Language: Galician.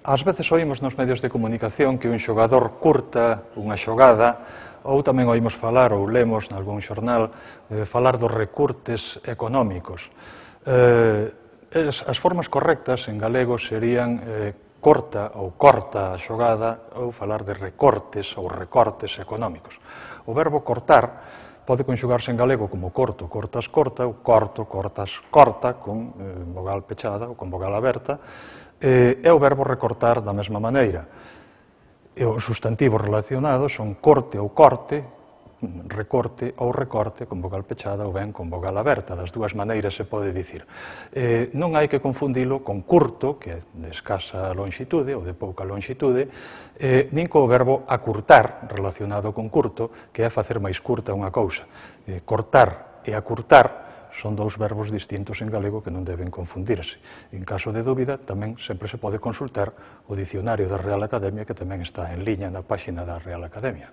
Ás veces oímos nos medios de comunicación que un xogador curta unha xogada, ou tamén oímos falar, ou lemos nalgún xornal, falar dos recurtes económicos. As formas correctas en galego serían corta ou corta a xogada, ou falar de recortes ou recortes económicos. O verbo cortar pode conxugarse en galego como corto, cortas, corta, ou corto, cortas, corta, con vogal pechada ou con vogal aberta, e o verbo recortar da mesma maneira. Os sustantivos relacionados son corte ou corte, recorte ou recorte con vogal pechada ou ben con vogal aberta. Das dúas maneiras se pode dicir. Non hai que confundilo con curto, que é de escasa longitude ou de pouca longitude, nin co verbo acurtar, relacionado con curto, que é facer máis curta unha cousa. Cortar e acurtar son dous verbos distintos en galego que non deben confundirse. En caso de dúbida, tamén sempre se pode consultar o dicionario da Real Academia, que tamén está en liña na páxina da Real Academia.